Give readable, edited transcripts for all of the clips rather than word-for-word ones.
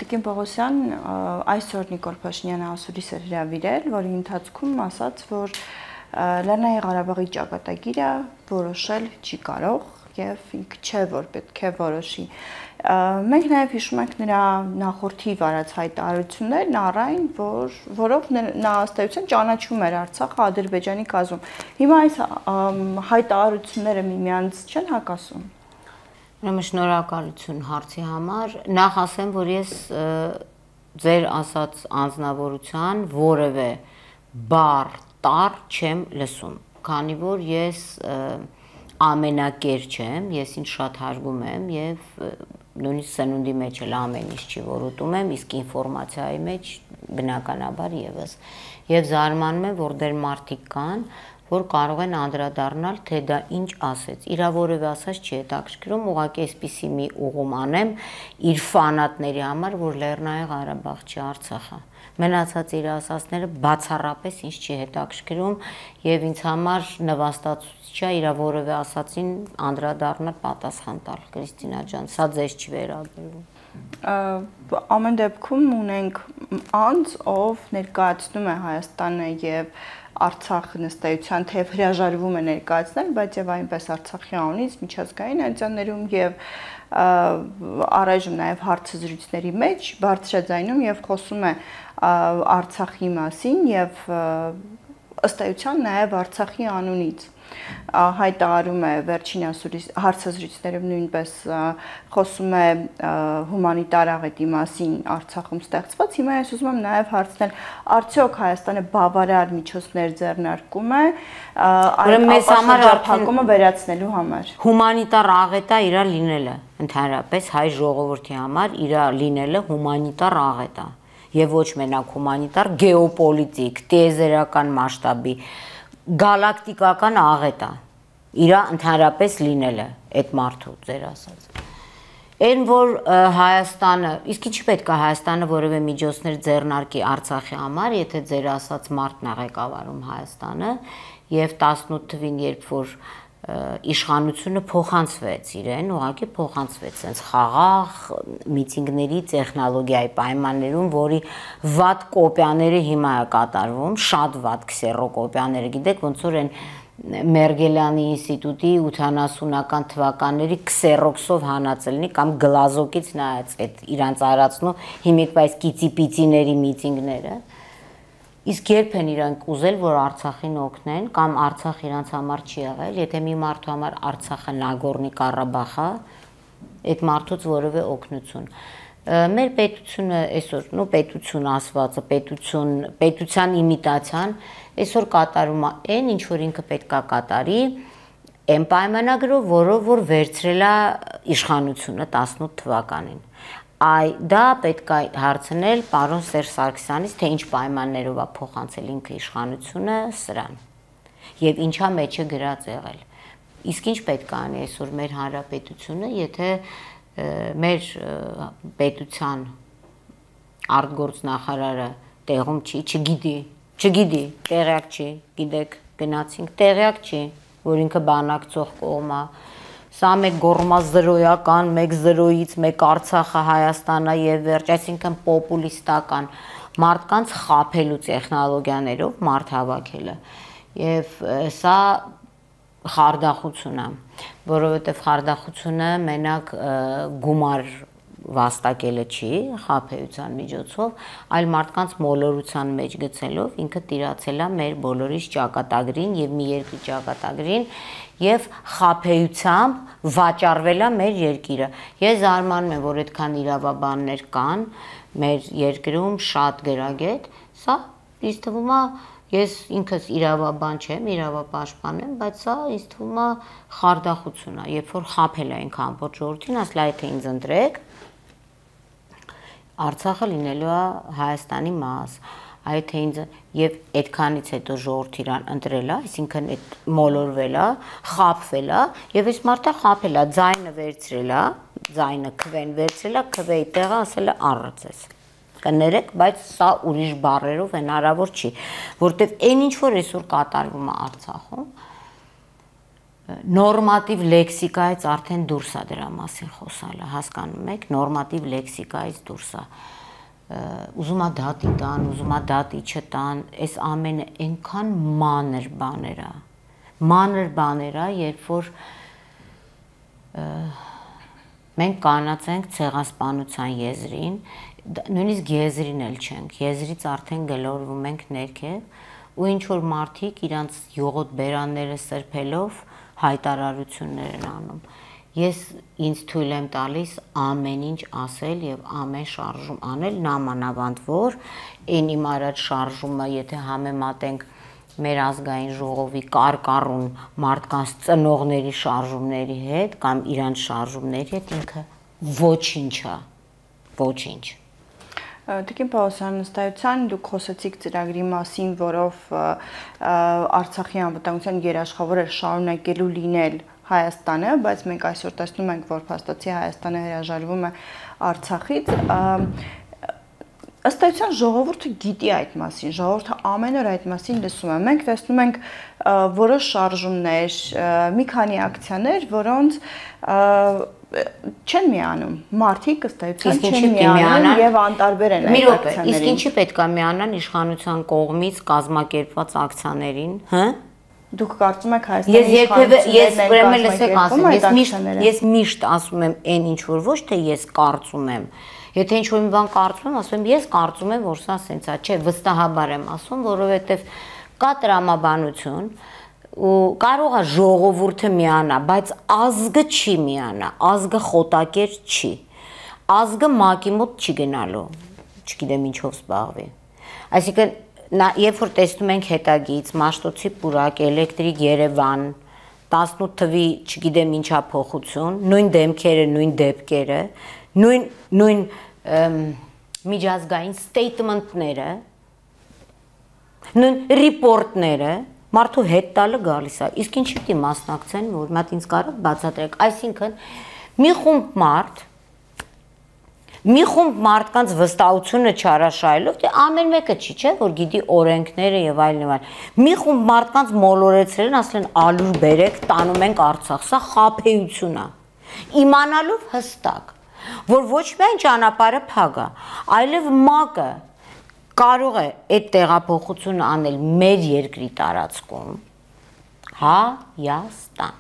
Տիկին Պողոսյան այսօր Նիկոլ Փաշինյանը ասուլիս էր հրավիրել, որի ընթացքում ասաց, որ Լեռնային Ղարաբաղի ճակատագիրը որոշել չի կարող եւ ինքը չէ, որ պետք է որոշի։ Մենք նաեւ հիշում ենք նրա նախորդի վարած հայտարարություններն առայն, որով նա ըստ էության ճանաչում էր Արցախը Ադրբեջանի կազմում։ Հիմա այս հայտարարությունները միմյանց չեն հակասում։ Ուրեմն շնորհակալություն հարցի համար։ Նախ ասեմ, որ ես ձեր ասած անձնավորության որևէ բառ տառ չեմ լսում, քանի որ ես ամենակեր չեմ, ես ինձ շատ հարգում եմ եւ նույնիսկ սնունդի մեջ էլ ամեն ինչ չի, որ ուտում եմ, իսկ ինֆորմացիայի մեջ բնականաբար եւս։ Եվ զարմանում եմ, որ դեռ մարդիկ կան, որ կարող են անդրադառնալ, թե դա ինչ ասեց։ Իրա որևէ ասած չի հետաքրքրում, ուղղակի այսպիսի մի ուղում անեմ իր ֆանատների համար, որ Լեռնային Ղարաբաղ չի, Արցախը։ Մնացած իր ասածները բացառապես ինձ չի հետաքրքրում եւ ինձ համար նվաստացուցիչ է իր որևէ ասածին անդրադառնալ պատասխան տալ, Կրիստինա ջան, սա ձեզ չի վերաբերվում։ Ամեն դեպքում ունենք անձ, ով ներկայացնում է Հայաստանը եւ Արցախը նստայության թեև հրաժարվում է ներկայացնել, բայց եւ այնպես Արցախի անունից միջազգային ատյաններում եւ առայժմ նաեւ հարցազրույցների մեջ բարձրաձայնում եւ խոսում է Արցախի մասին եւ ըստ էության նաեւ Արցախի անունից հայտարարում է վերջին հարցազրույցներում նույնպես խոսում է հումանիտար աղետի մասին Արցախում ստեղծված։ Հիմա ես ուզում եմ նաև հարցնել, արդյոք Հայաստանը բավարար միջոցներ ձեռնարկում է այն ապաշրջափակումը վերացնելու համար։ Հումանիտար աղետը իրա լինելը, ընդհանրապես հայ ժողովրդի համար իրա լինելը հումանիտար աղետ է, եւ ոչ մենակ հումանիտար, գեոպոլիտիկ, տիեզերական մասշտաբի գալակտիկական աղետ է, իրա ընդհանրապես լինելը, այդ մարդու ձեր ասած։ Այն որ Հայաստանը, իսկ ինչի պետք է Հայաստանը որևէ միջոցներ ձեռնարկի Արցախի համար, եթե ձեր ասած մարդն է ղեկավարում Հայաստանը, եւ 18 թվին, երբ որ իշխանությունը փոխանցվեց իրեն, ուղղակի փոխանցվեց sense խաղաղ միտինգների տեխնոլոգիայի պայմաններում, որի վատ կոպիաները հիմա է կատարվում, շատ վատ քսերոկոպիաները, գիտեք, ոնց որ այն Մերգելյանի ինստիտուտի 80-ական թվականների քսերոքսով հանածելնի կամ գլազոկից նայած այդ իրանց արածնու հիմիկ այս կիցի-պիցիների միտինգները։ Իսկ երբ են իրանք ուզել, որ Արցախին օգնեն, կամ Արցախ իրանց համար չի եղել, եթե մի մարդու համար Արցախը Նագորնի Ղարաբաղը, այդ մարդուց որևէ օգնություն։ Մեր պետությունը այսօր, պետություն ասվածը, պետության իմիտացիան այսօր կատարում է այն, ինչ որ ինքը պետք է կատարի, այն պայմանագրով, որով որ վերցրել է իշխանությունը 18 թվականին։ Դա պետք է հարցնել պարոն Սերժ Սարգսյանից, թե ինչ պայմաններով է փոխանցել ինքը իշխանությունը սրան եւ ինչա մեջը գրած եղել։ Իսկ ինչ պետք է անի այսօր մեր հանրապետությունը, եթե մեր պետության արտգործնախարարը տեղում չի, չգիտի, տեղյակ չի, գիտեք, գնացինք, տեղյակ չի, որ ինքը բանակցող կողմ է։ Սա մեկ գորմազրոյական, մեկ զրոյից, մեկ Արցախը Հայաստանա եւ վերջ, այսինքն պոպուլիստական մարդկանց խաբելու տեխնոլոգիաներով մարդ հավաքելը։ Եվ սա խարդախություն է, որովհետեւ խարդախությունը մենակ գումար վաստակելը չի խաբեության միջոցով, այլ մարդկանց մոլորության մեջ գցելով ինքը տիրացել է մեր բոլորիս ճակատագրին եւ մի երկրի ճակատագրին եւ խաբեությամբ վաճառվել է մեր երկիրը։ Ես զարմանում եմ, որ այդքան իրավաբաններ կան մեր երկրում, շատ գրագետ, սա ինձ թվում է, ես ինքս իրավաբան չեմ, իրավապաշտպան եմ, բայց սա ինձ թվում է խարդախություն է, երբ որ խաբել է ինքը ամբողջ ժողովրդին, ասել է թե ինձ ընտրեք, Արցախը լինելու է Հայաստանի մաս, այդ թե ինձ եւ այդքանից հետո ժողովուրդ իրան ընտրել է, այսինքն այդ մոլորվել է, խաբվել է եւ այս մարդը խաբել է, ձայնը վերցրել է, ձայնը քվեն վերցրել է, քվեի տեղը ասել է առածես։ Կներեք, բայց սա ուրիշ բառերով հնարավոր չի, որտեվ այն ինչ որ այսօր կատարվում է Արցախում, նորմատիվ լեքսիկայից արդեն դուրս է դրա մասին խոսալը, հասկանում եք, նորմատիվ լեքսիկայից դուրս է։ Ուզում է դատի տան, ուզում է դատի չտան, այս ամենը այնքան մանր բաներ է, երբ որ մենք կանած ենք ցեղասպանության եզրին, նույնիսկ եզրին էլ չենք, եզրից արդեն գլորվում ենք ներքև ու ինչ որ մարդիկ իրանց յուղոտ բերանները սրբելով հայտարարություններ են անում։ Ես ինձ թույլ եմ տալիս ամեն ինչ ասել եւ ամեն շարժում անել, նամանավանդ որ այն իմ արած շարժումը, եթե համեմատենք մեր ազգային ժողովի կարկառուն մարդկանց ծնողների շարժումների հետ կամ իրանց շարժումների հետ, ինքը ոչինչ է, ոչինչ։ Տիկին Պաուլոսյան, ըստայության դուք խոսեցիք ծրագրի մասին, որով Արցախի անվտանգության երաշխավորը շարունակելու լինել Հայաստանը, բայց մենք այսօր տեսնում ենք, որ փաստացի Հայաստանը հրաժարվում է Արցախից։ Ըստայության ժողովուրդը գիտի այդ մասին, ժողովուրդը ամեն օր այդ մասին լսում է։ Մենք տեսնում ենք որոշ շարժումներ, մի քանի ակցիաներ, որոնց չեն միանում, մարդիկ ըստայության չեն միանում եւ անտարբեր են այդ ակցիաներին։ Իսկ ինչի պետք է միանան իշխանության կողմից կազմակերպված ակցիաներին, հա? Դուք կարծում եք Հայաստանի իշխանություններն ես միշտ ասում եմ այն ինչ որ ոչ թե ես կարծում եմ։ Եթե ինչ-որ մի բան կարծում եմ, ասում եմ ես կարծում եմ, որ սա սենց է, չէ, վստահաբար եմ ասում, որովհետև կա տրամաբանություն ու կարող է ժողովուրդը միանա, բայց ազգը չի միանա, ազգը խոտակեր չի, ազգը մակի մոտ չի գնալու, չգիտեմ ինչով զբաղվի։ Այսինքն երբ որ տեսնում ենք հետագից Մաշտոցի պուրակ, Էլեկտրիկ Երևան, 18 թվի չգիտեմ ինչա փոխություն, նույն դեմքերը, նույն դեպքերը, նույն միջազգային statement-ները, նույն report-ները, մարդու հետ տալը գալիս է։ Իսկ ինչի՞ պիտի մասնակցեն, որ մատ ինձ կարող բացատրեք, այսինքն մի խումբ մարդկանց վստահությունը չարաշահելով, թե ամեն մեկը չի, չէ, որ գիտի օրենքները եւ այլն եւ այլն։ Մի խումբ մարդկանց մոլորեցրել են, ասել են ալուր բերեք, տանում ենք Արցախ, սա խաբեություն է։ Իմանալով հստակ, որ ոչ միայն ճանապարհը փակ է, այլև ՄԱԿ-ը կարող է այդ տեղափոխությունը անել մեր երկրի տարածքում, Հայաստան։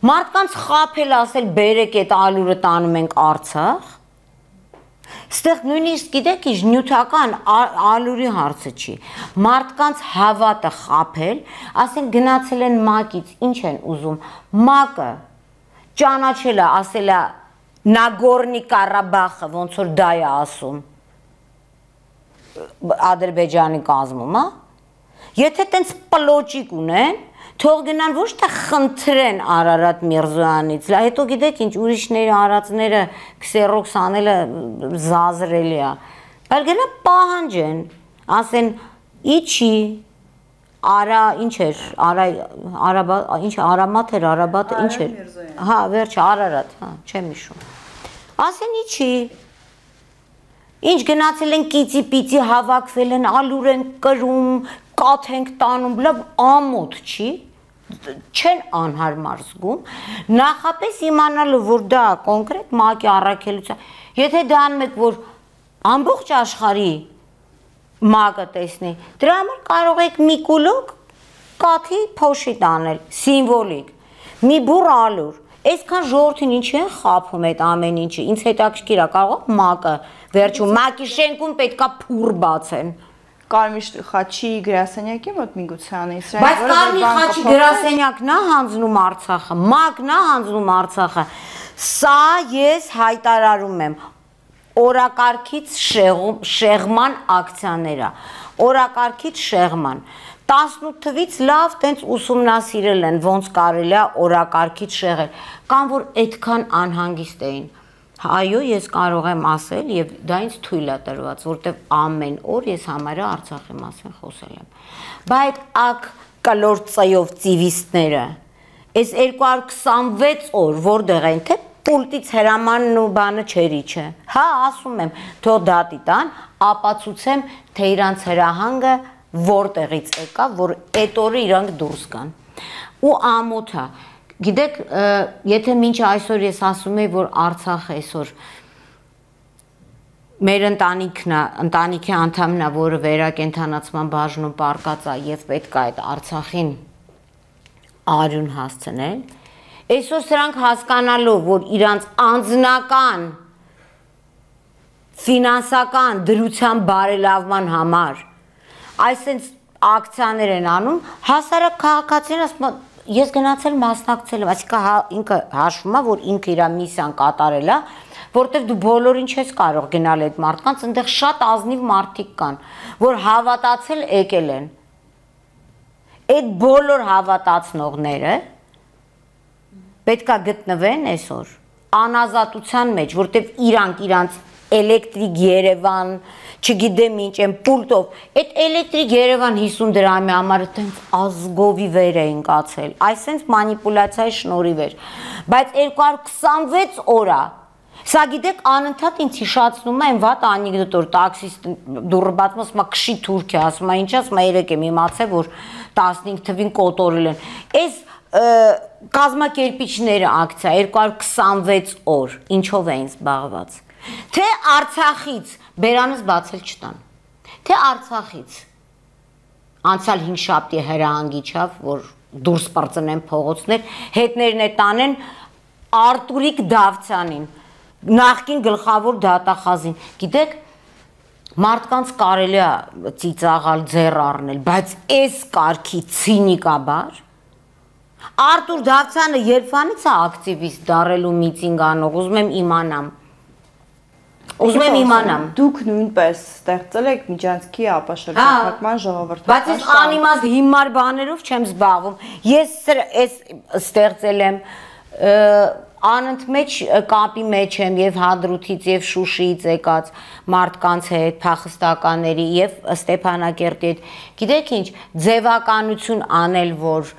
Մարդկանց խաբել ասել բերեք այդ ալուրը տանում ենք Արցախ, ստեղ նույնիսկ գիտեք ինչ նյութական ալուրի հարցը չի, մարդկանց հավատը խաբել, ասեն գնացել են ՄԱԿ-ից, ինչ են ուզում, ՄԱԿ-ը ճանաչել է, ասել է Նագորնի Ղարաբաղը, ոնց որ դա է ասում Ադրբեջանի կազմում, հա? Եթե տենց պլոճիկ ունեն, թող գնան ոչ թե խնդրեն Արարատ Միրզոյանից, հետո գիտեք ինչ ուրիշների արածները քսերոքս անելը զազրելի է, բայց գնա պահանջեն, ասեն իչի, արա ինչ էր, ինչ Արամատ էր, Արաբատը ինչ էր, հա վերջը Արարատ, հա չեմ հիշում, ասեն իչի, ինչ գնացել են կիծի պիծի հավաքվել են, ալուր են կրում, կաթ ենք տանում, լավ ամոթ չի, չեն անհարմար զգում, նախապես իմանալով, որ դա կոնկրետ ՄԱԿ-ի առաքելության, եթե դա անում եք, որ ամբողջ աշխարհի ՄԱԿ-ը տեսնի, դրա համար կարող եք մի կուլոկ կաթի փոշի տանել, սիմվոլիկ, մի բուռ ալուր, այսքան ժողովրդին ինչի են խաբում այդ ամեն ինչը, ինձ հետաքրքիր է, կարող է ՄԱԿ-ը, վերջում ՄԱԿ-ի շենքում պետքա փուռ բացեն։ Կարմիր խաչի գրասենյակի մոտ միգուցե անեն, բայց Կարմիր խաչի գրասենյակն է հանձնում Արցախը, ՄԱԿ-ն է հանձնում Արցախը, սա ես հայտարարում եմ, օրակարգից շեղման ակցիաները, օրակարգից շեղման, 18 թվից լավ տենց ուսումնասիրել են, ոնց կարելի է օրակարգից շեղել, կամ որ այդքան անհանգիստ էին, այո, ես կարող եմ ասել եւ դա ինձ թույլ է տրված, որտեվ ամեն օր ես համարյա Արցախի մասին խոսել եմ։ Բայց ակ կլոր ծայով ծիվիստները, այս 226 օր որտեղ են, թե պուլտից հրամանն ու բանը չերի չէ։ Հա, ասում եմ, թող դատի տան, ապացուցեմ, թե իրանց հրահանգը որտեղից եկա, որ այդ օրը իրանք դուրս գան։ Ու ամոթ է։ Գիտեք, եթե մինչ այսօր ես ասում եի, որ Արցախը այսօր մեր ընտանիքի անդամն է, որը վերակենդանացման բաժնում պարկած է եւ պետք է այդ Արցախին արյուն հասցնել, այսօր սրանք հասկանալով, որ իրանց անձնական ֆինանսական դրության բարելավման համար այսպես ակցիաներ են անում, հասարակ քաղաքացիները ասում են, ես գնացել մասնակցել եմ, այսինքն ինքը հաշվում է, որ ինքը իր միսիան կատարել է, որտեղ դու բոլորին չես կարող գնալ այդ մարդկանց, այնտեղ շատ ազնիվ մարդիկ կան, որ հավատացել եկել են։ Այդ բոլոր հավատացնողները պետք է գտնվեն այսօր անազատության մեջ, որտեղ իրանց էլեկտրիկ Երևան, չգիտեմ ինչ են պուլտով, այդ էլեկտրիկ Երևան 50 դրամի համար այդպես ազգովի վեր էին կացել, այսպես մանիպուլյացիայի շնորհիվ էր, բայց 226 օր է, սա գիտեք անընդհատ ինձ հիշացնում է այն վատ անեկդոտ, որ տաքսիստ դուրը բացում ասում է քշի Թուրքիա, ասում է ինչ ասում է երեք եմ իմացել, որ 15 թվին կոտորել են, այս կազմակերպիչները ակցիա 226 օր, ինչով էին զբաղված, թե Արցախից բերանս բացել չտան, թե Արցախից անցյալ 5 շաբթի հրահանգիչավ, որ դուրս պրծնեն փողոցներ, հետներն է տանեն Արտուրիկ Դավթյանին, նախկին գլխավոր դատախազին, գիտեք, մարդկանց կարելի է ծիծաղալ, ձեռ առնել, բայց այս կարգի ցինիկաբար Արտուր Դավթյանը երբանից է ակտիվիստ դառելու միտինգ անող, ուզում եմ իմանամ։ Դուք նույնպես ստեղծել եք միջանցքի ապաշրջակայման ժողովրդական բայց ես անիմաստ հիմար բաներով չեմ զբաղվում։ Ես այս ստեղծել եմ անընդմեջ կապի մեջ եմ եւ Հադրութից եւ Շուշիից եկած մարդկանց հետ, փախստականների եւ Ստեփանակերտի հետ։ Գիտեք ինչ, ձևականություն անել, որ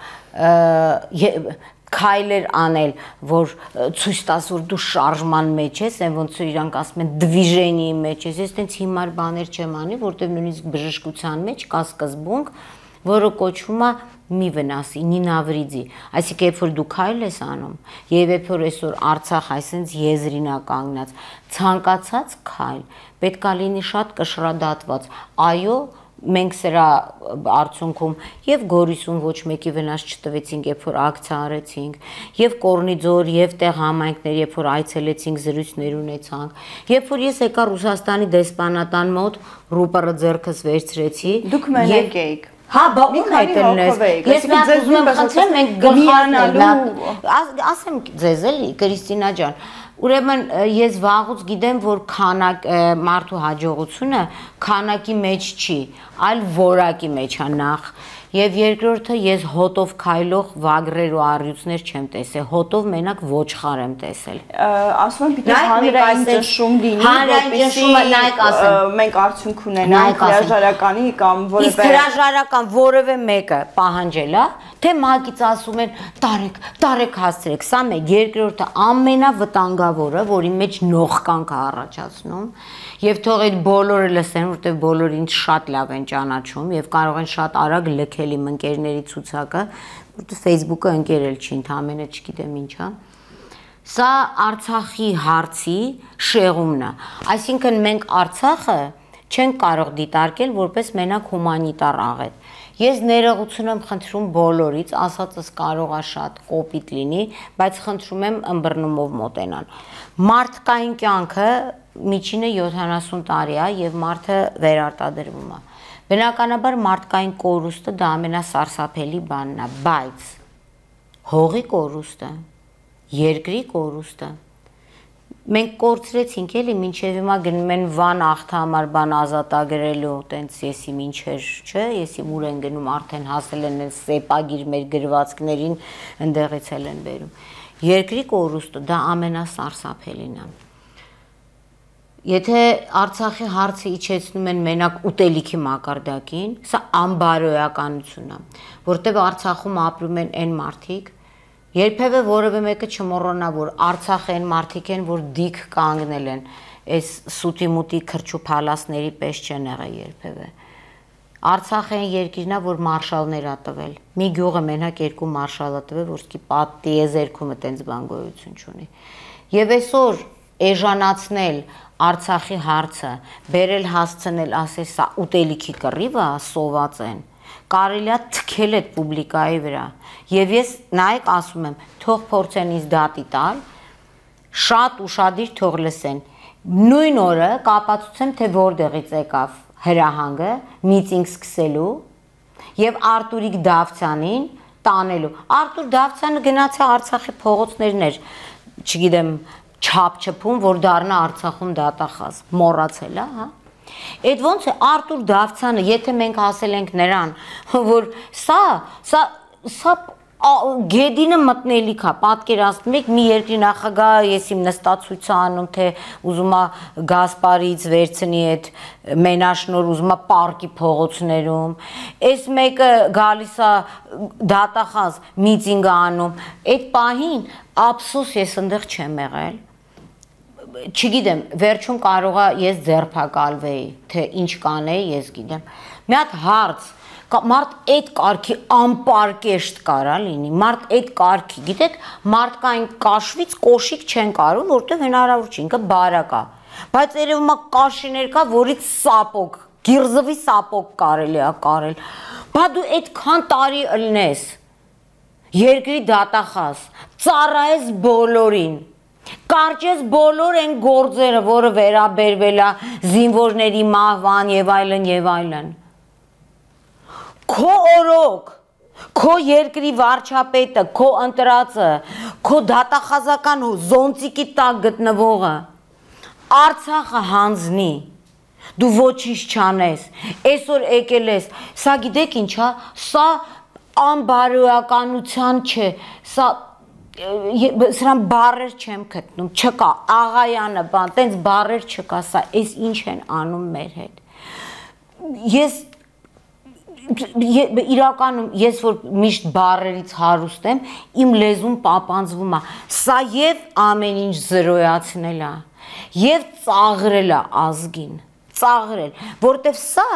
քայլեր անել, որ ցույց տաս, որ դու շարժման մեջ ես, այն ոնց որ իրանք ասում են դվիժենիի մեջ ես, ես տենց հիմար բաներ չեմ անի, որտեղ նույնիսկ բժշկության մեջ կա սկզբունք, որը կոչվում է մի վնասի, նինավրիդի, այսինքն երբ որ դու քայլ ես անում, եւ երբ որ այսօր Արցախ այսպես եզրին է կանգնած, ցանկացած քայլ պետք է լինի շատ կշռադատված, այո, մենք սրա արդյունքում եւ Գորիսում ոչ մեկի վնաս չտվեցինք, երբ որ ակցիա արեցինք, եւ Կորնիձոր, եւ տեղ համայնքներ, երբ որ այցելեցինք, զրույցներ ունեցանք, երբ որ ես եկա Ռուսաստանի դեսպանատան մոտ, ռուպերը ձեռքս վերցրեցի, դուք մենակ էիք։ Հա, բա ում հայտնես։ Ես մի հատ ուզում եմ խնդրեմ, մենք գլխանալու, ասեմ ձեզ էլի, Կրիստինա ջան, ուրեմն ես վաղուց գիտեմ, որ մարդու հաջողությունը քանակի մեջ չի, այլ որակի մեջ է նախ, եւ երկրորդը ես հոտով քայլող վագրեր ու առյուծներ չեմ տեսել, հոտով մենակ ոչխար եմ տեսել։ Ասում եմ, պիտի հանրային ճնշում լինի, որպեսզի մենք արդյունք ունենանք հրաժարականի կամ որևէ։ Իսկ հրաժարական որևէ մեկը պահանջել է, թե ՄԱԿ-ից ասում են տարեք հասցրեք, սա մեկ, երկրորդը ամենավտանգավորը, որի մեջ նողկանք է առաջացնում, եւ թող այդ բոլորը լսեն, որտեղ բոլորը ինձ շատ լավ են ճանաչում եւ կարող են շատ արագ լքել իմ ընկերների ցուցակը, որտեղ Facebook-ը ընկերել չի, ընդամենը չգիտեմ ինչա։ Սա Արցախի հարցի շեղումն է։ Այսինքն մենք Արցախը չենք կարող դիտարկել որպես մենակ հումանիտար աղետ։ Ես ներողություն եմ խնդրում բոլորից, ասածս կարող է շատ կոպիտ լինի, բայց խնդրում եմ ըմբռնումով մոտենան։ Մարդկային կյանքը միջինը 70 տարի է եւ մարդը վերարտադրվում է։ Բնականաբար մարդկային կորուստը դա ամենասարսափելի բանն է, բայց հողի կորուստը, երկրի կորուստը մենք կորցրեցինք էլի, մինչև հիմա գնում են Վան աղթամար բան ազատագրելու, տենց եսի մինչեր, չէ, եսի ուր են գնում, արդեն հասել են սեպագիր մեր գրվածքներին, ընդեղից էլ են բերում։ Երկրի կորուստը դա ամենասարսափելին է։ Եթե Արցախի հարցը իջեցնում են մենակ ուտելիքի մակարդակին, սա անբարոյականություն է, որտեղ Արցախում ապրում են այն մարդիկ, երբևէ որևէ մեկը չմոռանա, որ Արցախը այն մարդիկ են, որ դիք կանգնել են, այս սուտի մուտի քրչու փալասների պես չեն եղել երբևէ։ Արցախը այն երկիրն է, որ մարշալներ ա տվել։ Մի գյուղը մենակ 2 մարշալ ա տվել, որ սկի պատիեզերքումը տենց բան գոյություն չունի։ Եվ այսօր էժանացնել Արցախի հարցը, բերել հասցնել, ասել սա ուտելիքի կռիվ է, սոված են։ Կարելի է թքել այդ պուբլիկայի վրա։ Եվ ես նայեք ասում եմ, թող փորձեն ինձ դատի տալ, շատ ուշադիր թող լսեն։ Նույն օրը կապացուցեմ, թե որտեղից եկավ հրահանգը միտինգ սկսելու եւ Արտուրիկ Դավթյանին տանելու։ Արտուր Դավթյանը գնացա Արցախի փողոցներներ, չգիտեմ, չափչփում, որ դառնա Արցախում դատախազ, մոռացել է, հա։ Այդ ոնց է Արտուր Դավթյանը, եթե մենք ասել ենք նրան, որ սա գեդինը մտնելիք է, պատկերացնում եք մի երկրի նախագահ, ես իմ նստացույցը անում, թե ուզում է Գասպարից վերցնի այդ մենաշնոր, ուզում է պարկի փողոցներում, այս մեկը գալիս է դատախազ միտինգ անում, այդ պահին ափսոս ես այնտեղ չեմ եղել, չգիտեմ, վերջում կարող է ես ձերբակալվեի, թե ինչ կանեի, ես գիտեմ, մի հատ հարց մարդ այդ կարգի անպարկեշտ կարա լինի, մարդ այդ կարգի, գիտեք, մարդկային կաշվից կոշիկ չեն կարում, որտեղ հնարավոր չի, ինքը բարակ է, բայց երևում է կաշիներ կա, որից սապոկ, գիրզվի սապոկ կարելի է կարել, բա դու այդքան տարի ըլնես, երկրի դատախազ, ծառայես բոլորին, կարճես բոլոր են գործերը, որը վերաբերվել է զինվորների մահվան եւ այլն, Քո օրոք, քո երկրի վարչապետը, քո ընտրածը, քո դատախազական զոնտիկի տակ գտնվողը, Արցախը հանձնի, դու ոչինչ չանես, այսօր եկել ես, սա գիտեք ինչ է, սա անբարոյականության չէ, սրան բառեր չեմ գտնում, չկա, աղայանը, բան, տենց բառեր չկա, սա, այս ինչ են անում մեր հետ, ես իրականում ես որ միշտ բառերից հարուստ եմ, իմ լեզուն պապանձվում է, սա եւ ամեն ինչ զրոյացնել է, եւ ծաղրել է ազգին, ծաղրել, որտեվ սա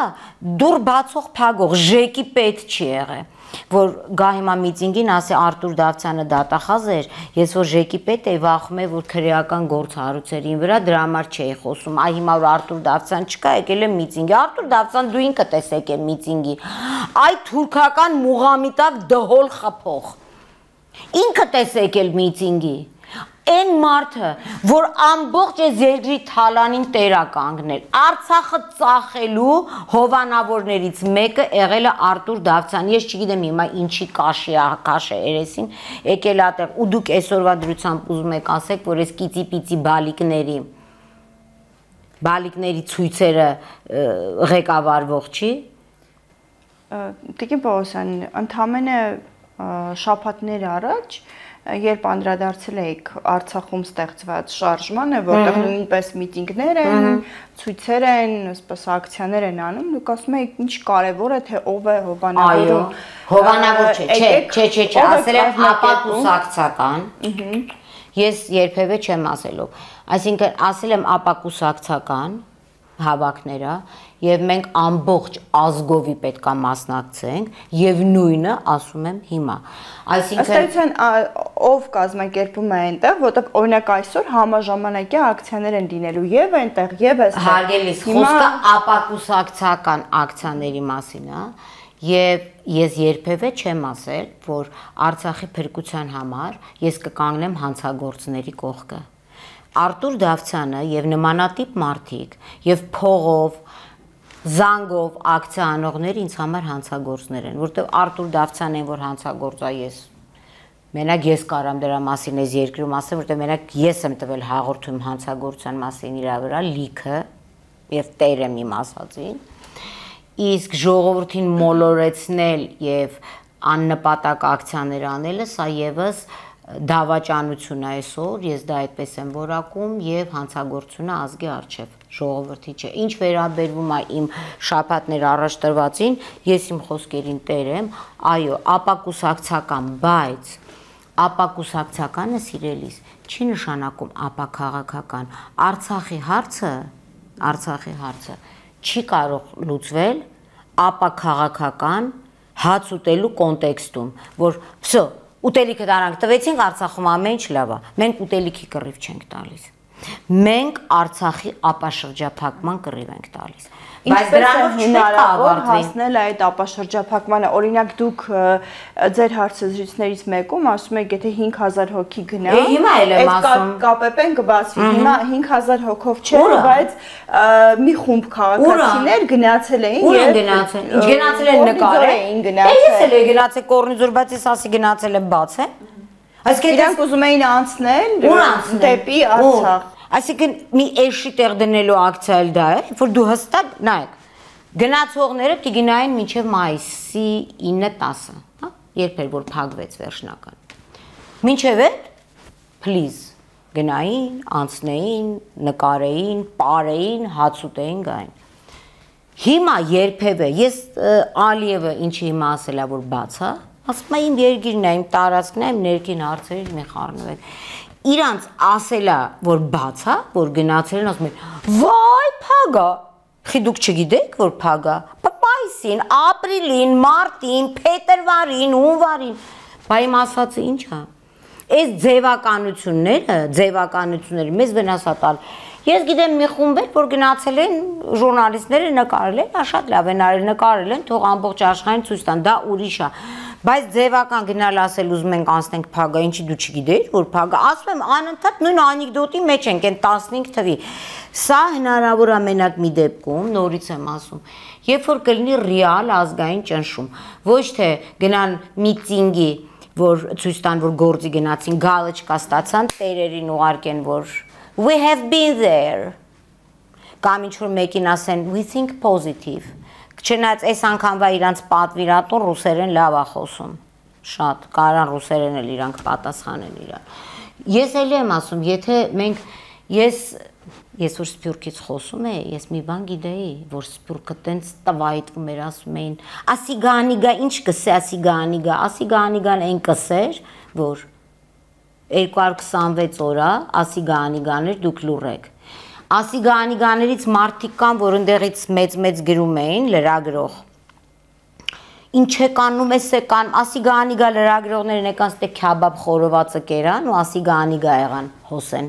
դուր բացող փագող ժեկի պետ չի եղել, որ գա հիմա միտինգին ասի Արտուր Դավթյանը դատախազ էր, ես որ ժեկի պետ էի վախում եմ, որ քրեական գործ հարուցերին վրա դրա համար չէի խոսում, այ հիմա որ Արտուր Դավթյան չկա, եկել է միտինգի, Արտուր Դավթյան դու ինքդ ես եկել միտինգի, այ թուրքական մուղամիտակ դհոլ խփող, ինքդ ես եկել միտինգի, Այն մարդը, որ ամբողջ այս երկրի թալանին տեր է կանգնել, Արցախը ծախելու հովանավորներից մեկը եղել է Արտուր Դավթյան, ես չգիտեմ հիմա ինչի կաշի է երեսին, եկել է այդտեղ, ու դուք այսօրվա դրությամբ ուզում եք ասեք, որ այս կիծի-պիծի բալիկների ցույցերը ղեկավարվող չի։ Տիկին Պողոսյան, ընդամենը շաբաթներ առաջ երբ անդրադարձել էիք Արցախում ստեղծված շարժմանը, որտեղ նույնպես միտինգներ են, ցույցեր են, այսպես ակցիաներ են անում, դուք ասում եք ինչ կարևոր է թե ով է հովանավորում։ Հովանավոր չէ, ասել եմ ապակուսակցական։ Ես երբևէ չեմ ասելով։ Այսինքն ասել եմ ապակուսակցական հավաքները եւ մենք ամբողջ ազգովի պետքա մասնակցենք եւ նույնը ասում եմ հիմա այսինքն ով կազմակերպում է այնտեղ որտեղ օրինակ այսօր համաժամանակյա ակցիաներ են լինելու եւ այնտեղ եւ այստեղ հարգելիս խոսքը ապակուսակցական ակցիաների մասին է եւ ես երբևէ չեմ ասել որ Արցախի փրկության համար ես կկանգնեմ հանցագործների կողքը Արտուր Դավթյանը եւ նմանատիպ մարդիկ եւ փողով զանգով ակցիա անողները ինձ համար հանցագործներ են, որտեղ Արտուր Դավթյանն են որ հանցագործա ես։ Մենակ ես կարամ դրա մասին այս երկրում ասեմ, որտեղ մենակ ես եմ տվել հաղորդում հանցագործության մասին իր վրա լիքը եւ տեր եմ իմ ասածին։ Իսկ ժողովրդին մոլորեցնել եւ աննպատակ ակցիաներ անելը սա եւս դավաճանություն է այսօր, ես դա այդպես եմ որակում եւ հանցագործությունը ազգի առջեւ ժողովրդի չէ։ Ինչ վերաբերվում է իմ շաբաթներ առաջ տրվածին, ես իմ խոսքերին տեր եմ, այո, ապակուսակցական, բայց ապակուսակցականը սիրելիս չի նշանակում ապաքաղաքական։ Արցախի հարցը չի կարող լուծվել ապա քաղաքական հաց ուտելու կոնտեքստում, որ վсё, ուտելիքը դրանք տվեցինք, Արցախում ամեն ինչ լավ է։ Մենք ուտելիքի կռիվ չենք տալիս։ Մենք Արցախի ապաշրջափակման կռիվ ենք տալիս։ Բայց դրանով հնարավոր հասնել այդ ապաշրջափակմանը։ Օրինակ դուք ձեր հարցազրույցներից մեկում ասում եք, եթե 5000 հոգի գնա, հիմա էլ եմ ասում, ԿՊՊ-ն կբացվի։ Հիմա 5000 հոգով չէ, բայց մի խումբ քաղաքացիներ գնացել էին եւ գնացել։ Ինչ գնացել են նկարել։ Ես էլ եմ գնացել Կորնիձոր, բայց ես ասի գնացել եմ բաց է։ Այսինքն իրանք ուզում էին անցնել դեպի Արցախ։ Այսինքն մի էշի տեղ դնելու ակցիա էլ դա է, որ դու հստակ նայեք, գնացողները կգնային մինչև մայիսի 9-10, հա, երբ էր որ փակվեց վերջնական։ Մինչև այդ, please, գնային, անցնեին, նկարեին, պարեին, հաց ուտեին, գային։ Հիմա երբևէ ես Ալիևը ինչի հիմա ասել է որ բաց է, ասում է իմ երկիրն է, իմ տարածքն է, իմ ներքին հարցերից մի խառնվել։ Իրանց ասելա որ բաց է, որ գնացել են ասում են, վայ, փագա։ Խի դուք չգիտեք որ փագա։ Մայիսին, ապրիլին, մարտին, փետրվարին, հունվարին։ Բա իմ ասածը ի՞նչ է։ Այս ձևականությունները մեզ վնաս է տալ։ Ես գիտեմ մի խումբ էր, որ գնացել են ժուրնալիստները նկարել են, շատ լավ են արել, նկարել են, թող ամբողջ աշխարհին ցույց տան, դա ուրիշ է։ Բայց ձևական գնալ ասել ուզում ենք անցնենք փագա, ինչի դու չգիտեիր, որ փագա, ասում եմ անընդհատ նույն անեկդոտի մեջ ենք, այն 15 թվի։ Սա հնարավոր է մենակ մի դեպքում, նորից եմ ասում, երբ որ կլինի ռեալ ազգային ճնշում, ոչ թե գնան միտինգի, որ ցույց տան, որ գործի գնացին, գալոչկա ստացան, տերերին ուղարկեն, որ we have been there։ Կամ ինչ որ մեկին ասեն we think positive։ Չնայած այս անգամվա իրանց պատվիրատուն ռուսերեն լավ է խոսում։ Շատ կարան ռուսերեն էլ իրանք պատասխանեն իրան։ Ես էլ եմ ասում, եթե մենք ես որ Սփյուռքից խոսում եմ, ես մի բան գիտեի, որ Սփյուռքը տենց տվայտվում էր, ասում էին, ասիգանիգա ինչ կսե, ասիգանիգան այն կսեր, որ 226 օրա ասիգանիգաներ դուք լուրեք։ Ասիգանիգաներից մարդիկ կան, որ ընդեղից մեծ գրում էին լրագրող։ Ինչ եք անում, էս եք անում, ասիգանիգա լրագրողներն եկան ստե քյաբաբ խորովածը կերան ու ասիգանիգա եղան հոսեն։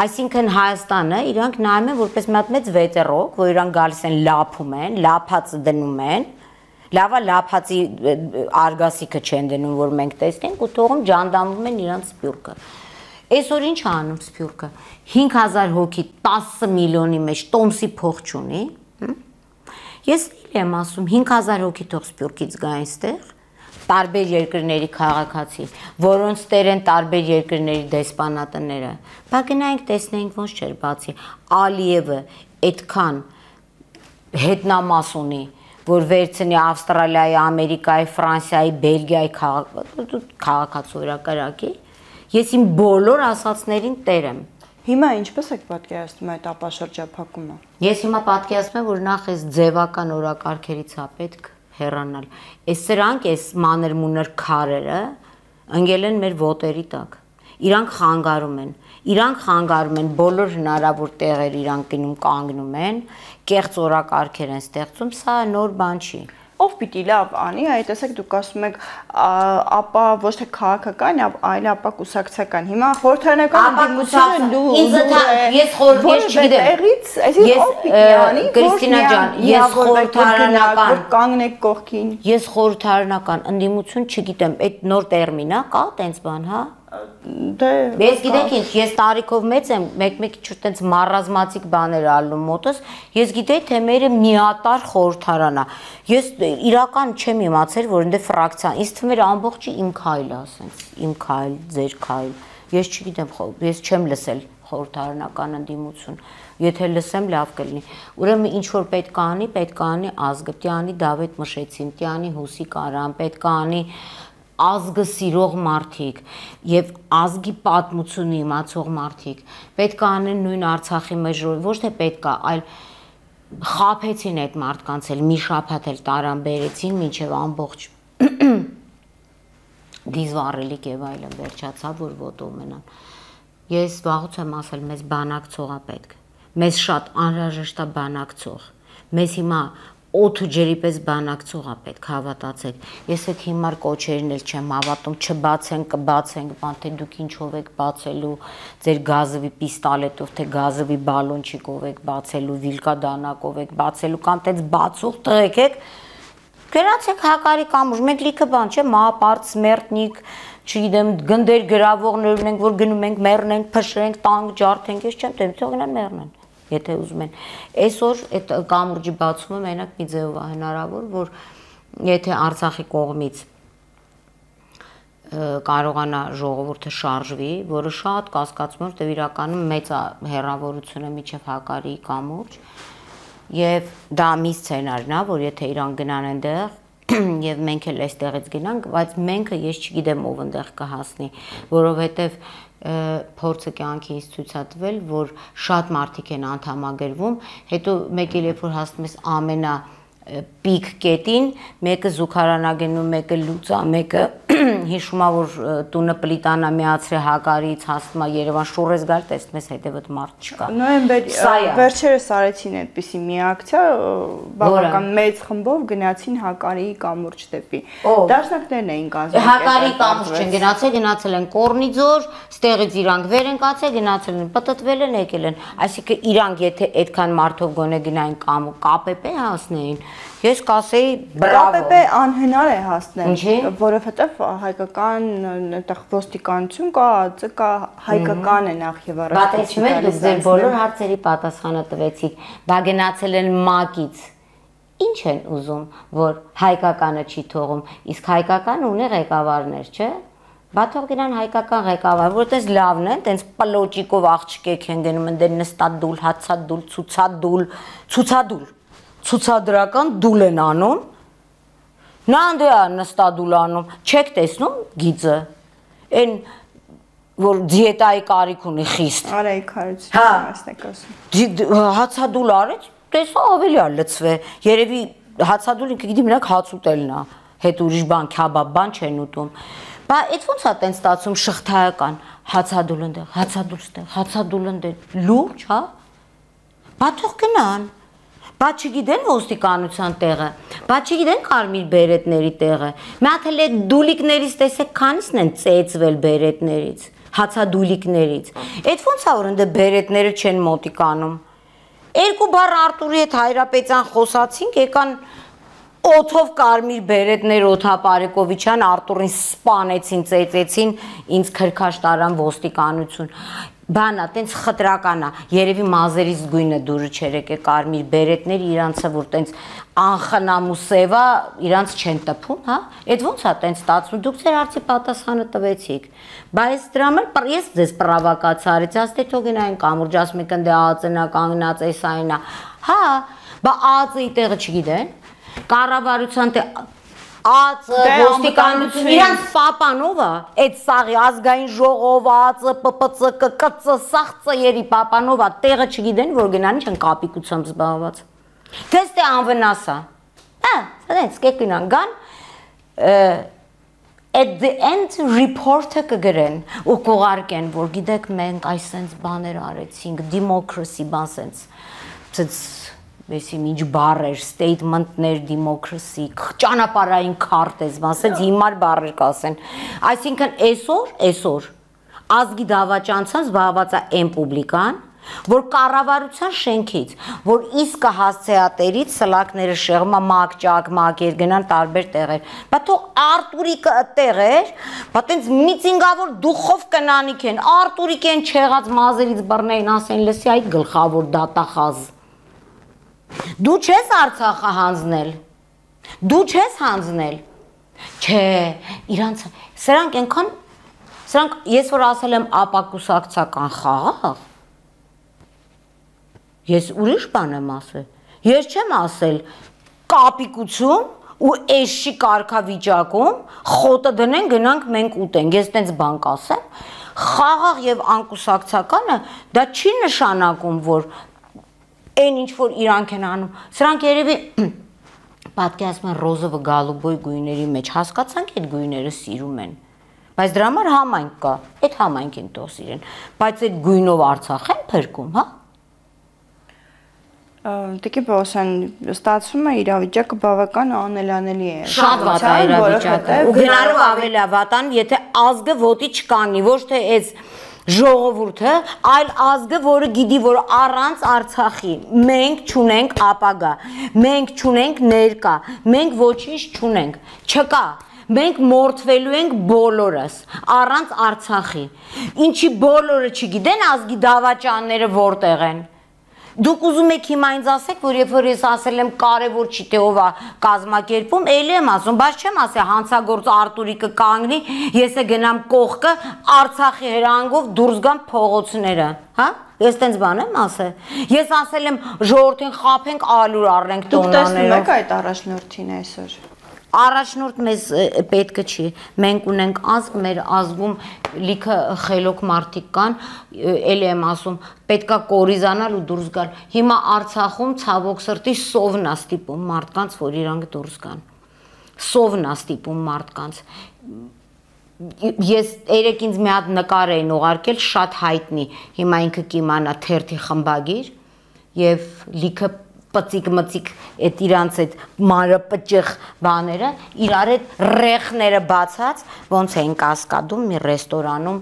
Այսինքն Հայաստանը իրանք նայում են որպես մի հատ մեծ վետերոկ, որ իրանք գալիս են լափում են, լափածը դնում են։ Լավա լափածի արգասիքը չեն դնում, որ մենք տեսնենք ու թողում ջանդամվում են իրանց Սփյուռքը։ Այսօր ինչ անում Սփյուռքը 5000 հոգի 10 միլիոնի մեջ տոմսի փող չունի։ Ես եմ ասում 5000 հոգի թող Սփյուռքից գային ստեղ, տարբեր երկրների քաղաքացի, որոնց տեր են տարբեր երկրների դեսպանատները։ Բա գնայինք տեսնենք ոնց չէր բացի Ալիևը այդքան հետնամաս ունի, որ վերցնի Ավստրալիայի, Ամերիկայի, Ֆրանսիայի, Բելգիայի քաղաքացիորակարակի, ես իմ բոլոր ասածներին տեր եմ։ Հիմա ինչպես եք պատկերացնում այդ ապաշրջափակումը։ Ես հիմա պատկերացնում եմ, որ նախ այս ձևական օրակարգերից է պետք հեռանալ։ Այս սրանք, այս մանր-մունր քարերը ընկել են մեր ոտերի տակ։ Իրանք խանգարում են բոլոր հնարավոր տեղեր իրանք գնում կանգնում են, կեղծ օրակարգեր են ստեղծում, սա նոր բան չի։ Ով պիտի լավ անի, այ տեսեք դուք ասում եք, ապա ոչ թե քաղաքական, այլ ապա կուսակցական։ Հիմա խորհրդարանական դիմությունը ես չգիտեմ։ Այսինքն ով պիտի անի, Կրիստինա ջան, ես խորհրդարանական կանգնեք կողքին։ Ես խորհրդարանական ընդդիմություն չգիտեմ, այդ նոր տերմին է, կա տենց բան, հա։ Ես գիտեք ինչ, ես տարիքով մեծ եմ, մեկ-մեկ ինչ տենց մարազմացիկ բաներ ալնում մոտս, ես գիտեի թե մերը միատար խորհրդարան է։ Ես իրական չեմ իմացել, որ ընդ ֆրակցիա, ինձ թվում էր ամբողջը իմ քայլը, ասենց, իմ քայլ, ձեր քայլ։ Ես չգիտեմ, ես չեմ լսել խորհրդարանական ընդդիմություն։ Եթե լսեմ լավ կլինի։ Ուրեմն ինչ որ պետք է անի ազգը, պետք է անի Դավիթ Մշեցին, պետք է անի Հուսիկ Արամ, պետք է անի ազգը սիրող մարդիկ եւ ազգի պատմությունը իմացող մարդիկ պետք է անեն նույն Արցախի մեջ ոչ թե պետք է, այլ խափեցին այդ մարդկանց էլ մի շաբաթ էլ տարան բերեցին մինչեւ ամբողջ դիզվառելիք եւ այլն վերջացավ որ ոտով մնան։ Ես վաղուց եմ ասել մեզ բանակցողա պետք։ Մեզ շատ անհրաժեշտ է բանակցող։ Մեզ հիմա օդու ջրի պես բանակցող է պետք հավատացեք։ Ես այդ հիմար կոչերին էլ չեմ հավատում, չբացենք, կբացենք, բան թե դուք ինչով եք բացելու, ձեր գազովի պիստոլետով, թե գազովի բալոնչիկով եք բացելու, վիլկա դանակով եք բացելու, կամ տենց բացող տղեկ եք, գնացեք հակարի կամուր, մենք լիքը բան չէ, մահապարտ, սմերտնիկ, չգիտեմ, գնդեր գրավողներ ունենք, որ գնում ենք, մեռնենք, փշրենք, տանկ ջարդենք, ես չեմ տեմ, թող գնան մեռնեն, եթե ուզում են։ Այսօր այդ կամուրջի բացումը մենակ մի ձևով է հնարավոր, որ եթե Արցախի կողմից կարողանա ժողովուրդը շարժվի, որը շատ կասկածում է, որտեղ իրականում մեծ հեռավորությունը միջև հակարի կամուրջ, եւ դա մի սցենարն է, որ եթե իրան գնան այնտեղ եւ մենք էլ այստեղից գնանք, բայց մենք ես չգիտեմ ով այնտեղ կհասնի, որովհետեւ փորձը կյանքից ցույց է տվել, որ շատ մարդիկ են անդամագրվում, հետո մեկ էլ երբ որ հասնում ես ամենա պիկ կետին, մեկը զուգարանագնում, մեկը լուծա, մեկը հիշում է, որ տունը պլիտանա միացրե հակարից հասնում է Երևան, շուռ ես գալ, տեսնում ես հետևդ մարդ չկա։ Նոյեմբեր վերջերս արեցին այդպիսի մի ակցիա, բավական մեծ խմբով գնացին հակարի կամուրջ դեպի։ Դաշնակներն էին կազմել։ Հակարի կամուրջ չեն գնացել, գնացել են Կորնիձոր, ստեղից իրանք վեր են կացել, գնացել են, պտտվել են, եկել են։ Այսինքն իրանք եթե այդքան մարդով գոնե գնային կամ ԿՊՊ հասնեին, ես կասեի բրավո։ ԿՊՊ անհնար է հասնել, որովհետև հայկական այդտեղ ոստիկանություն կա, ԱԾ կա, հայկական է նախ եւ առաջ։ Բայց մենք դուք ձեր բոլոր հարցերի պատասխանը տվեցիք, բա գնացել են ՄԱԿ-ից։ Ինչ են ուզում, որ հայկականը չի թողում, իսկ հայկական ունի ղեկավարներ, չէ՞։ Բա թող գնան հայկական ղեկավար, որտես լավն են, տենց պլոճիկով աղջիկ են գնում, ընդ նստադուլ, հացադուլ, ցուցադուլ, ցուցադրական դուլ են անում, նա ընդ է նստադուլ անում, չեք տեսնում գիծը, այն որ դիետայի կարիք ունի խիստ։ Արայք հարություն ասնեք ասում։ Հացադուլ արեց, տեսա ավելի է լծվե, երևի հացադուլ ինքը գիտի մենակ հաց ուտելն է, հետ ուրիշ բան, քյաբաբ բան չեն ուտում։ Բա այդ ոնց է տենց ստացում շղթայական, հացադուլ ընդեղ, հացադուլ ստեղ, հացադուլ ընդեղ, լուրջ, հա։ Բա թող գնան։ Բա չգիտեն ոստիկանության տեղը, բա չգիտեն կարմիր բերետների տեղը։ Մի հատ էլ այդ դուլիկներից տեսեք քանիսն են ծեծվել բերետներից, հացադուլիկներից։ Այդ ոնց է որ ընդ բերետները չեն մոտիկանում։ Երկու բառ Արտուրի հետ Հայրապետյան խոսացինք, եկան օթով կարմիր բերետներ Օթապարեկովիչյան Արտուրին սպանեցին, ծեծեցին, ինձ քրքաշ տարան ոստիկանություն։ Բանա, տենց խտրականա, երևի մազերից գույնը դուրը չերեք է կարմիր բերետներ իրանցը, որ տենց անխնամ ու սևա, իրանց չեն տպում, հա, այդ ոնց է տենց ստացվում, դուք ձեր հարցի պատասխանը տվեցիք, բայց դրամել ես ձեզ պրավակացա արեցի, աստ է թող գնային կամուրջ, ասում եք ընդ ԱԱԾ-նա կանգնած էս այնա, հա, բա ԱԱԾ-ի տեղը չգիտեն, կառավարության ԱԱԾ, ոստիկանություն, իրանց պապանով է, այդ սաղի ազգային ժողով, ԱԱԾ, ՊՊՑ, ԿԿՑ, սաղ ծերի պապանով է, տեղը չգիտեն, որ գնան ինչ են կապիկությամբ զբաղված։ Թես թե անվնաս է, սենց կեք գնան, գան, at the end report-ը կգրեն ու կողարկեն, որ գիտեք մենք այսենց բաներ արեցինք, democracy բան սենց Բեսի ինչ բառեր, statement-ներ, democracy, ճանապարհային քարտեզ, ասենց հիմար բառեր կասեն։ Այսինքն այսօր ազգի դավաճանցան զբաղված է այն պուբլիկան, որ կառավարության շենքից, որ իսկը հասցեատերից սլակները շեղում է մակ, մակեր գնան տարբեր տեղեր։ Բա թող Արտուրիկը տեղեր, բա տենց միծինգավոր դուխով կնանիք են, Արտուրիկ են չեղած մազերից բռնեին, ասեն լսի այդ գլխավոր դատախազ։ Դու չես Արցախը հանձնել, դու չես հանձնել, չէ, իրանց, սրանք ենքան, սրանք ես որ ասել եմ ապակուսակցական խաղաղ, ես ուրիշ բան եմ ասել, ես չեմ ասել կապիկություն ու էշի կարգավիճակում խոտը դնեն գնանք մենք ուտենք, ես տենց բան կասեմ, խաղաղ և անկուսակցականը դա չի նշանակում, որ այն ինչ որ իրանք են անում, սրանք երևի պատկերացնում են ռոզովը գալուբոյ գույների մեջ, հասկացանք այդ գույները սիրում են, բայց դրա համար համայնք կա, այդ համայնքին թող սիրեն, բայց այդ գույնով Արցախ են փրկում, հա? Տիկին Պողոսյան, ստացվում է իրավիճակը բավական անելանելի է։ Շատ վատ է իրավիճակը։ Ու գնալու ավելի վատան, եթե ազգը ոտի չկանգնի, ոչ թե այս ժողովուրդը, այլ ազգը, որը գիտի, որ առանց Արցախի մենք չունենք ապագա, մենք չունենք ներկա, մենք ոչինչ չունենք, չկա։ Մենք մորթվելու ենք բոլորս, առանց Արցախի։ Ինչի բոլորը չգիտեն ազգի դավաճանները որտեղ են։ Դուք ուզում եք հիմա ինձ ասեք, որ երբ որ ես ասել եմ կարևոր չի թե ով է կազմակերպում, էլի եմ ասում, բայց չեմ ասել հանցագործ Արտուրիկը կանգնի, ես է գնամ կողքը Արցախի հրանգով դուրս գամ փողոցները, հա? Ես տենց բան եմ ասել։ Ես ասել եմ ժողովրդին խաբենք, ալուր առնենք տոնաներով։ Դուք տեսնում եք այդ առաջնորդին այսօր։ Առաջնորդ մեզ պետքը չի, մենք ունենք ազգ, մեր ազգում լիքը խելոք մարդիկ կան, էլի եմ ասում, պետքա կորիզանալ ու դուրս գալ։ Հիմա Արցախում ցավոք սրտի սովն է ստիպում մարդկանց, որ իրանք դուրս գան։ Սովն է ստիպում մարդկանց։ Ես երեք ինձ մի հատ նկար էին ուղարկել, շատ հայտնի, հիմա ինքը կիմանա թերթի խմբագիր եւ լիքը պծիկ-մծիկ այդ իրանց այդ մանրապճեղ բաները իրար այդ ռեխները բացած ոնց էին կասկադում մի ռեստորանում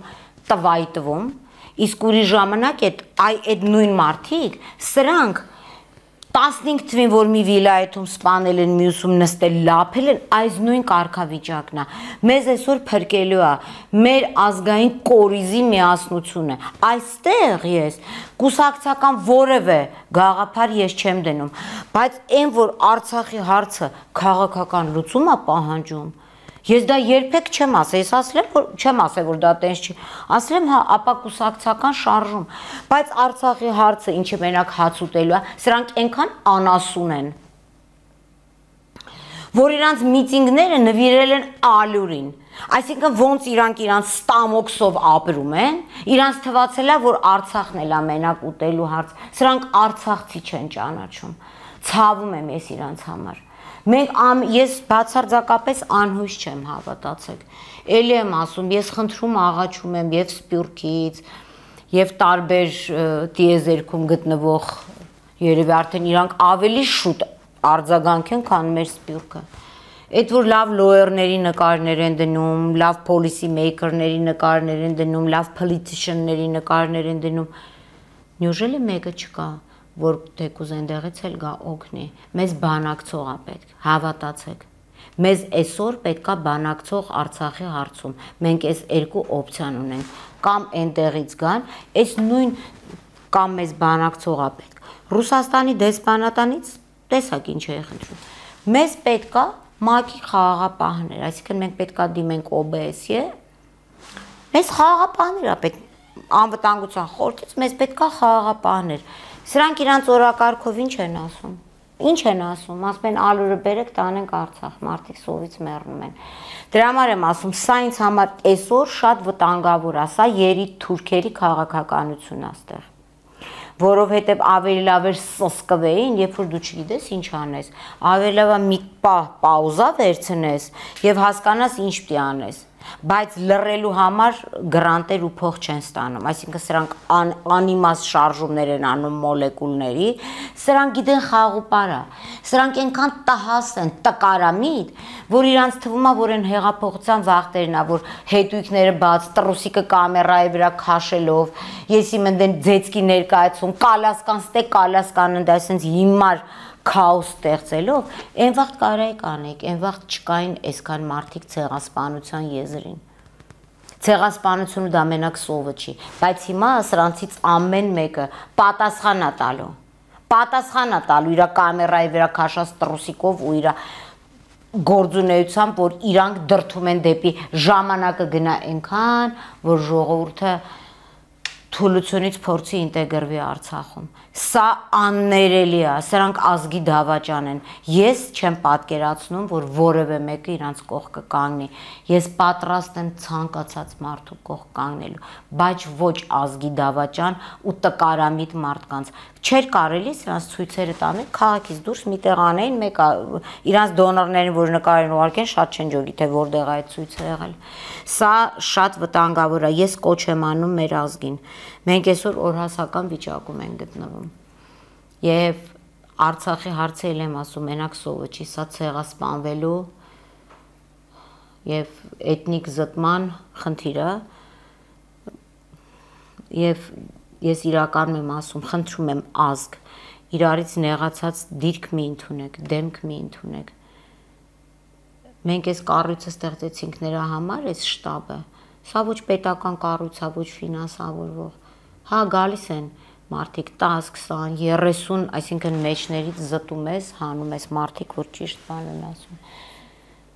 տվայ տվում իսկ ուրիշ ժամանակ այդ նույն մարդիկ սրանք 15 թվին որ մի վիլայեթում սպանել են մյուսում նստել լափել են այս նույն կարգավիճակն է մեզ այսօր փրկելու է մեր ազգային կորիզի միասնությունը այստեղ ես կուսակցական որևէ գաղափար ես չեմ դնում բայց այն որ Արցախի հարցը քաղաքական լուծում է պահանջում Ես դա երբեք չեմ ասել, ես ասել եմ, չեմ ասել, որ դա տենց չի, ասել եմ, հա, ապա կուսակցական շարժում, բայց Արցախի հարցը, ինչը մենակ հաց ուտելու է, սրանք այնքան անասուն են, որ իրանց միտինգները նվիրել են ալյուրին, այսինքն ոնց իրանք ստամոքսով ապրում են, իրանց թվացել է, որ Արցախն էլ է մենակ ուտելու հարց, սրանք արցախցի չեն ճանաչում, ցավում եմ ես իրանց համար Ես բացարձակապես անհույս չեմ հավատացեք, էլի եմ ասում, ես խնդրում աղաչում եմ և Սպյուրքից, և տարբեր տիեզերքում գտնվող, երևի արդեն իրանք ավելի շուտ արձագանք են, քան մեր Սպյուրքը, այդ որ լավ լոյերների նկարներ են դնում, լավ պոլիսի մեյքերների նկարներ են դնում, լավ պոլիտիշնների նկարներ են դնում, նյուժելի մեկը չկա որ թեկուզ այնտեղից էլ գա օգնի, մեզ բանակցող է պետք, հավատացեք, մեզ այսօր պետք է բանակցող Արցախի հարցում, մենք այս երկու օպցիան ունենք, կամ այնտեղից գան, այս նույն կամ մեզ բանակցող է պետք, Ռուսաստանի դեսպանատանից տեսակ ինչ է խնդրում, մեզ պետք է ՄԱԿ-ի խաղաղապահներ, այսինքն մենք պետք է դիմենք OBS-ի, մեզ խաղաղապահներ է պետք, անվտանգության խորհրդից մեզ պետք է խաղաղապահներ Սրանք իրանց օրակարգով ինչ են ասում, ասում են ալուրը բերեք տանենք Արցախ, մարդիկ սովից մեռնում են, դրա համար եմ ասում, սա ինձ համար այսօր շատ վտանգավոր է, սա երիտ թուրքերի քաղաքականություն է ստեղ, որովհետև ավելի լավ էր սսկվեին, երբ որ դու չգիտես ինչ անես, ավելի լավ է մի պաուզա վերցնես և հասկանաս ինչ պիտի անես, բայց լռելու համար գրանտեր ու փող չեն ստանում, այսինքն սրանք անիմաստ շարժումներ են անում մոլեկուլների, սրանք գիտեն խաղուպարա, սրանք այնքան տհաս են, տկարամիտ, որ իրանց թվում է, որ են հեղափոխության վախտերն է, որ հետույքները բաց, տրուսիկը կամերայի վրա քաշելով, ես իմ ընդեն ձեցկի ներկայացում, կալասկան ստեկ, կալասկան ընդ այսենց հիմար քաոս ստեղծելով, այն վաղտ կարայի կանեք, այն վաղտ չկային այսքան մարդիկ ցեղասպանության եզրին։ Ցեղասպանությունը դա մենակ սովը չի, բայց հիմա սրանցից ամեն մեկը պատասխան է տալու իր կամերայի վրա քաշած տրուսիկով ու իր գործունեությամբ, որ իրանք դրդում են դեպի ժամանակը գնա այնքան, որ ժողովուրդը թուլությունից փորձի ինտեգրվի Արցախում։ Սա աններելի է, սրանք ազգի դավաճան են։ Ես չեմ պատկերացնում, որ որևէ մեկը իրանց կողքը կանգնի։ Ես պատրաստ եմ ցանկացած մարդու կողք կանգնելու, բայց ոչ ազգի դավաճան ու տկարամիտ մարդկանց։ Չէր կարելի սրանց ցույցերը տանել քաղաքից դուրս միտեղ անեին, մեկը իրանց դոնորներին, որ նկար են ուղարկեն, շատ չեն ջոգի, թե որտեղ է այդ ցույցը եղել։ Սա շատ վտանգավոր է։ Ես կոչ եմ անում մեր ազգին։ Մենք այսօր օրհասական վիճակում ենք գտնվում։ Եվ Արցախի հարցը եմ ասում, մենակ սովը չի, սա ցեղասպանվելու եւ էթնիկ զտման խնդիրը եւ ես իրականում եմ ասում, խնդրում եմ ազգ, իրարից նեղացած դիրք մի ընդունեք, դեմք մի ընդունեք։ Մենք այս կառույցը ստեղծեցինք նրա համար, այս շտաբը։ Սա ոչ պետական կառույց է, ոչ ֆինանսավորվող։ Հա, գալիս են մարդիկ 10, 20, 30, այսինքն մեջներից զտում ես, հանում ես մարդիկ, որ ճիշտ բան են ասում։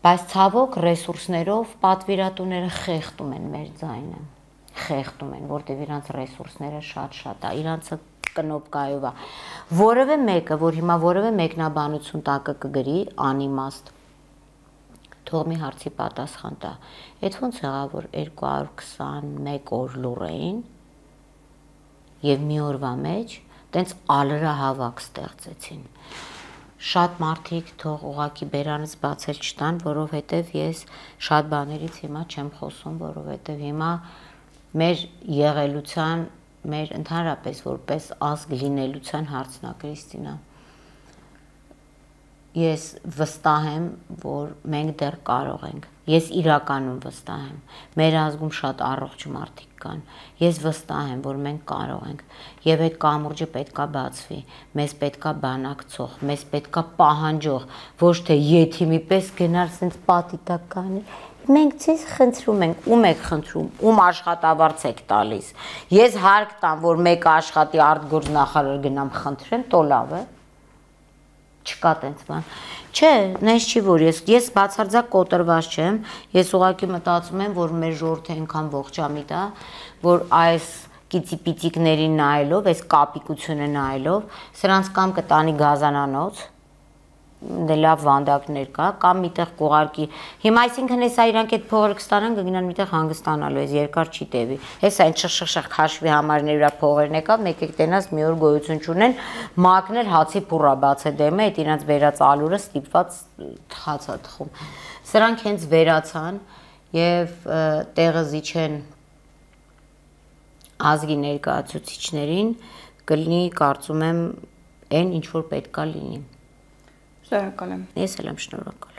Բայց ցավոք ռեսուրսներով պատվիրատուները խեղդում են մեր ձայնը, խեղդում են, որտեղ իրանց ռեսուրսները շատ է, իրանցը կնոպկայով է։ Որևէ մեկը, որ հիմա որևէ մեկնաբանություն տակը կգրի, անիմաստ, թող մի հարցի պատասխան տա։ Այդ ոնց եղավ, որ 221 օր լուռ էին եւ մի օրվա մեջ տենց ալրահավաք ստեղծեցին։ Շատ մարդիկ թող ուղակի բերանից բացել չտան, որովհետև ես շատ բաներից հիմա չեմ խոսում, որովհետև հիմա մեր եղելության, մեր ընդհանրապես որպես ազգ լինելության հարցն է, Կրիստինա։ Ես վստահ եմ, որ մենք դեռ կարող ենք։ Ես իրականում վստահ եմ։ Մեր ազգում շատ առողջ մարդիկ կան։ Ես վստահ եմ, որ մենք կարող ենք։ Եվ այդ կամուրջը պետքա բացվի։ Մեզ պետքա բանակցող, մեզ պետքա պահանջող, ոչ թե եթիմի պես գնալ սենց պատիտականի։ Մենք ցես խնդրում ենք, ում եք խնդրում, ում աշխատավարձ եք տալիս։ Ես հարկ տամ, որ մեկը աշխատի արտգործնախարար գնամ խնդրեմ, տո լավ է։ Չկա տենց բան։ Չէ, նենց չի, որ ես բացարձակ կոտրված չեմ, ես ուղղակի մտածում եմ, որ մեր ժողովուրդը այնքան ողջամիտ է, որ այս կիծիպիծիկներին նայելով, այս կապիկությունը նայելով, սրանց կամ կտանի գազանանոց, դե լավ վանդակներ կա, կամ միտեղ կուղարկի։ Հիմա այսինքն հեսա իրանք այդ փողերը կստանան, կգնան միտեղ հանգստանալու, այս երկար չի տևի։ Հեսա այն շխ քաշվի համարներ վրա փողերն եկավ, մեկ տենաս մի օր գոյություն չունեն, մակներ հացի փուռա բացե դեմը, այդ իրանց վերած ալուրը ստիպված թխացա թխում։ Սրանք հենց վերացան եւ տեղը զիջեն ազգի ներկայացուցիչներին, կլինի կարծում եմ այն ինչ որ պետքա լինի։ Շնորհակալ եմ։ Ես էլ եմ շնորհակալ։